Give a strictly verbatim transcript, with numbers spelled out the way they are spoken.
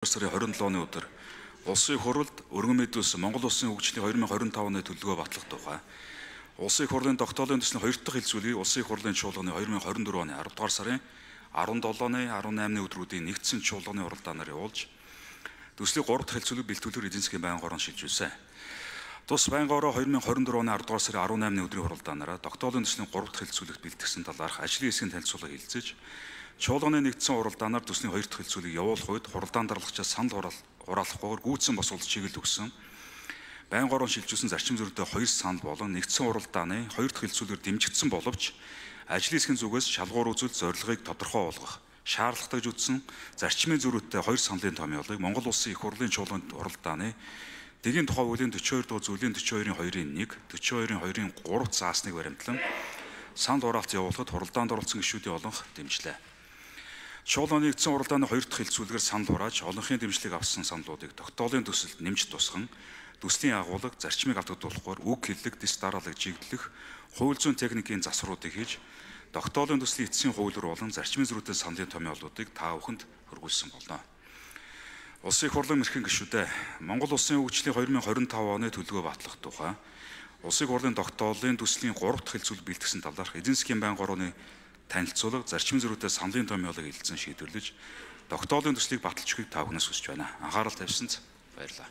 сарын хорин долооны өдөр улсын их хурлд өргөн мэдүүлсэн Монгол Улсын хөгжлийн две тысячи двадцать оны төлөвлөгөө батлах тухай Улсын их хурлын тогтоолын төслийн хоёр дахь хэлцүүлгийг Улсын их хурлын чуулганы две тысячи двадцать оны аравдугаар сарын арван долооны арван наймны өдрүүдийн нэгдсэн чуулганы уралдаанаар явуулж төслийн гурав дахь хэлцүүлэг бэлтгэлээр эзэн засгийн байнгын хорон шилжүүлсэн. Тус байнгын хороо две тысячи двадцать оны аравдугаар сарын арван наймны өдрийн уралдаанаараа тогтоолын төслийн гурав дахь хэлцүүлэгт бэлтгэсэн талаарх ажлын хэсгийн танилцуулга хэлцэж чуулганы нэгдсэн уралдаанаар төслийн хоёр дахь хэлцүүлгийг явуулах үед хуралдаан дарлагчаас санал хураалахгүйгээр гүйцэн босуулж чиглэл өгсөн. Байнгын хорон шилжүүлсэн зарчим зөрүүтэй хоёр санал болон нэгдсэн уралдааны хоёр дахь хэлцүүлгээр дэмжигдсэн боловч ажлын хэсгийн зүгээс шалгуур үзүүлэлт зорилгыг тодорхой болгох шаардлагатай үзсэн зарчмын зөрүүтэй хоёр саналын томьёолыг Монгол Улсын их хурлын чуулганд уралдааны дэгийн тухай хуулийн forty-two дугаар зүйлийн forty-two-ийн two-ийн one, forty-two-ийн two-ийн three заасныг баримтлан санал хураалт явуулахад хуралдаанд оролцсон гишүүдийн олонх дэмжлээ. Чуулганы нэгдсэн уралдааны хоёр дахь хэлцүүлгээр санал хурааж олонхын дэмжлэг авсан саналуудыг тогтоолын төсөлд нэмж тусган төслийн агуулга зарчмыг алдагдуулахгүйгээр үг хэллэг, дис дараалал жигдлэх, хууль зүйн техникийн засваруудыг хийж тогтоолын төслийн эцсийн хууль руу болон зарчмын зөрүүтэй саналын томьёолуудыг та бүхэнд хөргүүлсэн болно. Улсын их хурлын эрхэм гишүүдээ Монгол Улсын хөгжлийн две тысячи двадцать оны төлөвлөгөө батлах тухай Улсын их хурлын тогтоолын төслийн гурав дахь хэлцүүлэг бэлтгэсэн талаарх эзэн засгийн байнгын хорооны танилцуулга зарчмын зөрүүтэй саналын томьёолыг хэлэлцэн шийдвэрлэж тогтоолын төслийг баталж өгөхийг та бүхнээс хүсэж байна. Анхаарал тавьсанд баярлалаа.